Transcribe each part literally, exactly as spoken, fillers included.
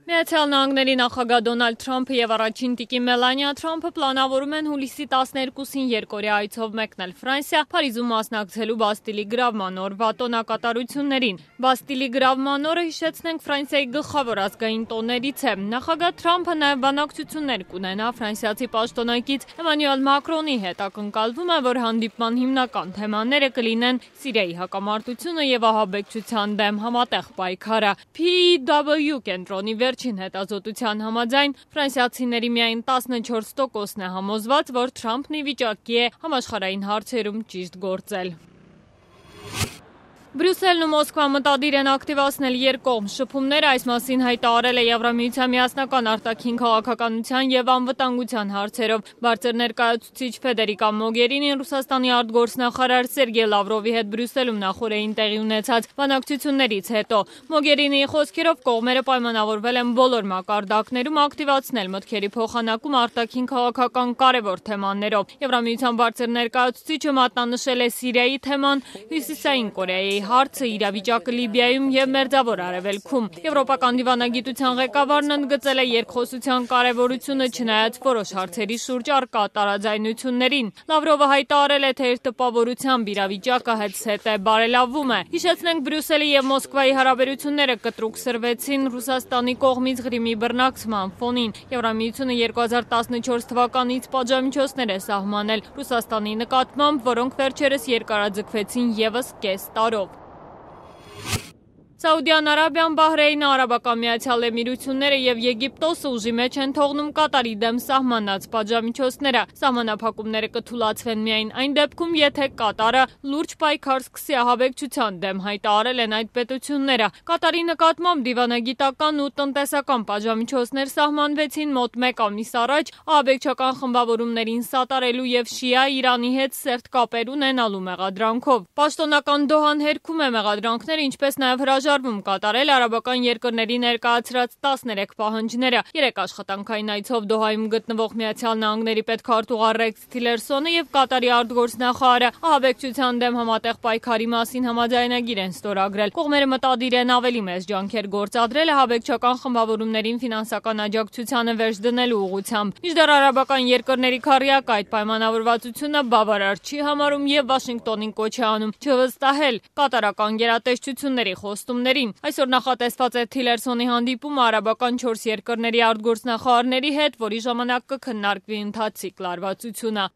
Միացյալ Նահանգների նախագահ Դոնալդ Թրամփը եւ առաջին տիկին Մելանիա Թրամփը պլանավորում են հուլիսի տասներկուսին երկօրյա այցով մեկնել Ֆրանսիա, Փարիզում մասնակցելու Բաստիլի գրավման օրվա տոնակատարություններին։ Բաստիլի գրավման օրը, հիշեցնենք, Ֆրանսիայի գլխավոր ազգային տոներից է։ Նախագահ Թրամփը նաեւ բանակցություններ կունենա ֆրանսիացի պաշտոնակից Էմանուել Մակրոնի հետ։ Ակնկալվում է, որ հանդիպման հիմնական թեմաները կլինեն Սիրիայի հակամարտությունը եւ ահաբեկչության դեմ համատեղ պայքարը։ P W կենտրոնի վերջին հետազոտության համաձայն ֆրանսիացիների միայն տասնչորս տոկոսն է համոզված, որ Թրամփն ի վիճակի է համաշխարհային հարցերում ճիշտ գործել։ Բրյուսելն ու Մոսկվան մտադիր են ակտիվացնել երկկողմ շփումներ, այս մասին հայտարարել է Եվրամիության միասնական արտաքին քաղաքականության եւ անվտանգության հարցերով բարձր ներկայացուցիչ Ֆեդերիկա Մոգերինին Ռուսաստանի արտգործնախարար Սերգեյ Լավրովի հետ Բրյուսելում նախորդին տեղի ունեցած բանակցություններից հետո։ Մոգերինիի խոսքերով կողմերը պայմանավորվել են բոլոր մակարդակներում ակտիվացնել մտքերի փոխանակում արտաքին քաղաքական կարևոր թեմաներով։ Եվրամիության բարձր ներկայացուցիչը մատնանշել է Սիրիայի թեման, Հյուսիսային Կորեայի հարցը, իրավիճակը Լիբիայում եւ Մերձավոր Արևելքում։ Եվրոպական դիվանագիտության ղեկավարն ընդգծել է երկխոսության կարևորությունը, չնայած որոշ հարցերի շուրջ առկա տարաձայնություններին։ Լավրովը հայտարարել է, թե իր տպավորությամբ իրավիճակը հետզհետե բարելավվում է։ Հիշեցնենք, Բրյուսելի եւ Մոսկվայի հարաբերությունները կտրուկ սրվեցին Ռուսաստանի կողմից Ղրիմի բռնակցման ֆոնին։ Եվրամիությունը երկու հազար տասնչորս թվականից պատժամիջոցներ է սահմանել Ռուսաստանի նկատմամբ, որոնք վերջերս երկարաձգվեցին եւս կես տարով։ Սաուդյան Արաբիան, Բահրեյնը, Արաբական Միացյալ Էմիրությունները եւ Եգիպտոսը ուժի մեջ են թողնում Կատարի դեմ սահմանած պատժամիջոցները։ Սահմանափակումները կթուլացվեն միայն այն դեպքում, եթե Կատարը լուրջ պայքար սկսի ահաբեկչության դեմ, հայտարարել են այդ պետությունները։ Կատարի նկատմամբ դիվանագիտական ու տնտեսական պատժամիջոցներ սահմանվեցին մոտ մեկ ամիս առաջ ահաբեկչական խմբավորումներին սատարելու եւ շիա Իրանի հետ սերտ կապեր ունենալու մեղադրանքով։ Պաշտոնական Դոհան հերքում է մեղադրանքները, ինչպես նաեւ հրաժարվում կատարել արաբական երկրների ներկայացրած տասներեք պահանջները։ Երեք աշխատանքային այցով Դոհայում գտնվող Միացյալ Նահանգների պետքարտուղար Ռեքս Թիլերսոնը եւ Կատարի արտգործնախարարը ահաբեկչության դեմ համատեղ պայքարի մասին համաձայնագիր են ստորագրել։ Կողմերը մտադիր են ավելի մեծ ջանքեր գործադրել ահաբեկչական խմբավորումներին ֆինանսական աջակցությանը վերջ դնելու ուղղությամբ։ Մինչդեռ արաբական երկրների քառյակը այդ պայմանավորվածությունը բավարար չի համարում եւ Վաշինգտոնին կոչ է անում չվստահել կատարական գերատեսչությունների խոստումներին։ Այսօր նախատեսված է Թիլերսոնի հանդիպումը արաբական չորս երկրների արտգործնախարարների հետ, որի ժամանակ կքննարկվի ընթացիկ լարվածությունը։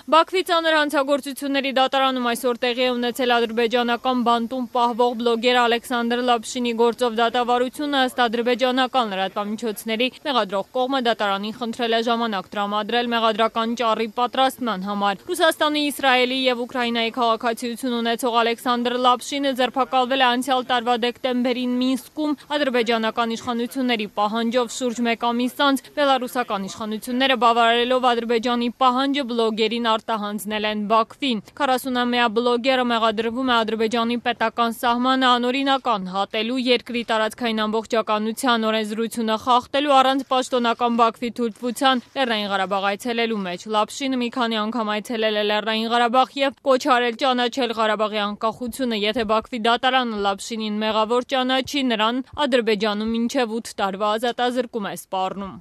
Բաքվի ծանր հանցագործությունների դատարանում այսօր տեղի է ունեցել ադրբեջանական բանտում պահվող բլոգեր Ալեքսանդր Լապշինի գործով դատավարությունը, ըստ ադրբեջանական լրատվամիջոցների մեղադրող կողմը դատարանին խնդրել է ժամանակ տրամադրել մեղադրական ճառի պատրաստման համար։ Ռուսաստանի, Իսրայելի եւ Ուկրաինայի քաղաքացիություն ունեցող Ալեքսանդր Լապշինը ձերբակալվել է անցյալ տարվա դեկտեմբերին Մինսկում ադրբեջանական իշխանությունների պահանջով շուրջ մեկ ամիս անց։ Բելարուսական իշխանությունները բավարարելով Ադրբեջանի պահանջը բլոգերին արտահանձնել են Բաքվին։ քառասունամյա բլոգերը մեղադրվում է Ադրբեջանի պետական սահմանը անօրինական հատելու, երկրի տարածքային ամբողջականության օրենսդրությունը խախտելու, առանց պաշտոնական Բաքվի թույլտվության Լեռնային Ղարաբաղ այցելելու մեջ։ Լապշինը մի քանի անգամ այցելել է Լեռնային Ղարաբաղ եւ կոչ արել ճանաչել Ղարաբաղի անկախությունը։ Եթե Բաքվի դատարանը Լապշինին մեղավոր ճանաչի, նրան Ադրբեջանում մինչեւ ութ տարվա ազատազրկում է սպառնում։